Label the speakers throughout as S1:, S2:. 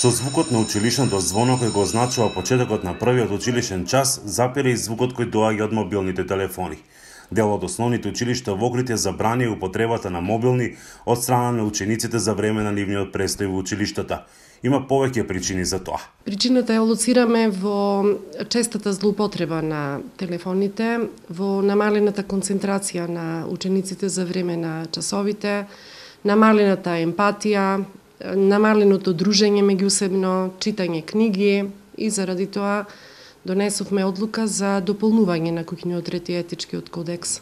S1: Со звукот на училишното звоно кој го означува почетокот на првиот училишен час, запира и звукот кој доаѓа од мобилните телефони. Дел од основните училишта во Охрид ја забрани употребата на мобилни од страна на учениците за време на нивниот престој во училиштата. Има повеќе причини за тоа.
S2: Причината ја лоцираме во честата злоупотреба на телефоните, во намалената концентрација на учениците за време на часовите, намалената емпатија, намаленото дружење меѓусебно, читање книги и заради тоа донесовме одлука за дополнување на куќниот ред и етичкиот кодекс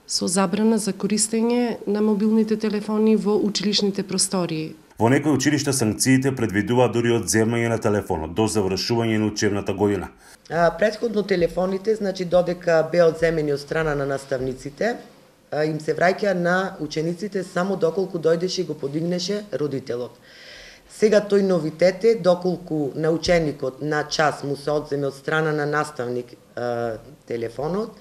S2: со забрана за користење на мобилните телефони во училишните простории.
S1: Во некои училишта санкциите предвидуваат дури одземање на телефонот до завршување на учебната година.
S3: Претходно телефоните, додека беа одземени од страна на наставниците, им се враќа на учениците само доколку дојдеше и го подигнеше родителот. Сега тој новитет е доколку на ученикот на час му се одземе од страна на наставник телефонот,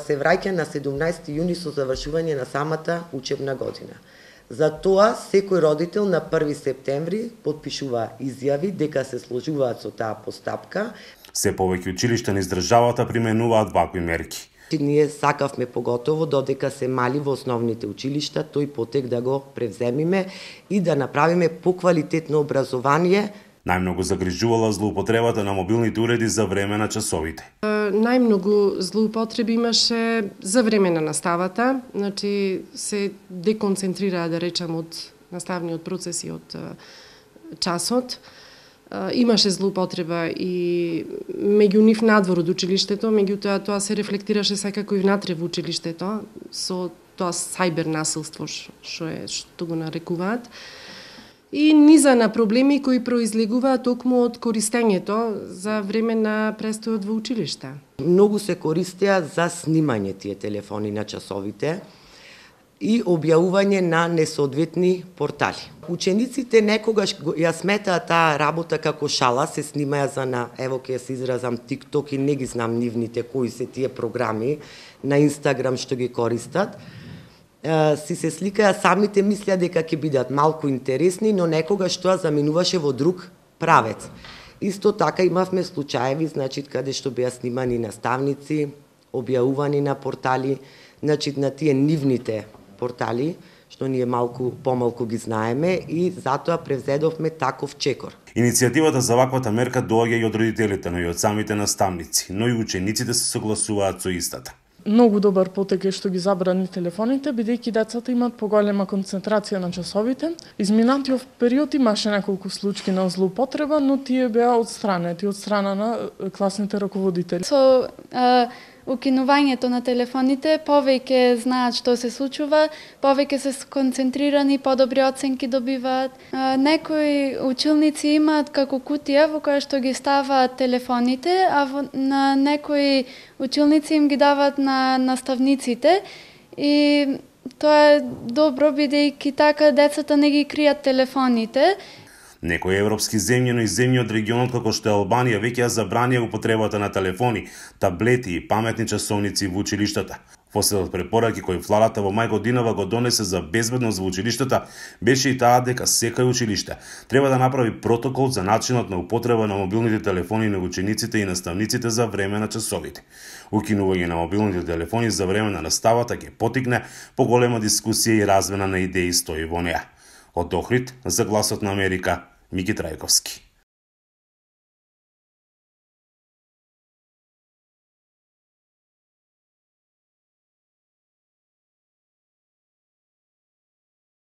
S3: се враќа на 17 јуни со завршување на самата учебна година. За тоа секој родител на 1 септември подпишува изјави дека се сложуваат со таа постапка.
S1: Се повеќе училишта низ државата применуваат вакви мерки.
S3: Ние сакавме поготово додека се мали во основните училишта тој потек да го превземиме и да направиме поквалитетно образование.
S1: Најмногу загрижувала злоупотребата на мобилните уреди за време на часовите.
S2: Најмногу злоупотреби имаше за време на наставата, се деконцентрираа, да речам, од наставниот процес и од часот. Имаше злоупотреба и меѓу нив надвор од училиштето, меѓутоа тоа се рефлектираше секако и внатре во училиштето, со тоа сајбер насилство што го нарекуваат. И низа на проблеми кои произлегуваат токму од користењето за време на престојот во училиште.
S3: Многу се користеа за снимање тие телефони на часовите и објавување на несоодветни портали. Учениците некогаш ја сметаат таа работа како шала, се снимаја за на, ево ќе се изразам, TikTok и не ги знам нивните кои се тие програми на Instagram што ги користат. Си се сликаја, самите мислеа дека ќе бидат малку интересни, но некогаш тоа заминуваше во друг правец. Исто така имавме случаеви, каде што беа снимани наставници, објавувани на портали, на тие нивните портали, што ние помалку ги знаеме и затоа превзедовме таков чекор.
S1: Иницијативата за ваквата мерка доаѓа и од родителите, но и од самите наставници, но и учениците се согласуваат со истата.
S4: Многу добар потек е што ги забрани телефоните, бидејќи децата имаат поголема концентрација на часовите. Изминатиот период имаше неколку случаи на злоупотреба, но тие беа одстранети од страна на класните раководители.
S5: Со укинувањето на телефоните, повеќе знаат што се случува, повеќе се сконцентрирани, подобри оценки добиваат. Некои училници имаат како кутија во која што ги ставаат телефоните, а на некои училници им ги даваат на наставниците и тоа е добро бидејќи така децата не ги кријат телефоните.
S1: Некои европски земји, но и земји од регионот како што е Албанија веќе ја забранија употребата на телефони, таблети и паметни часовници во училиштата. Во след од препораки кои владата во мај годинава го донесе за безбедност во училиштата, беше и таа дека секој училиште треба да направи протокол за начинот на употреба на мобилните телефони на учениците и наставниците за време на часовите. Укинување на мобилните телефони за време на наставата ќе поттикне поголема дискусија и размена на идеи, стои во неа. Од Охрид, за Гласот на Америка, Мики Трајковски.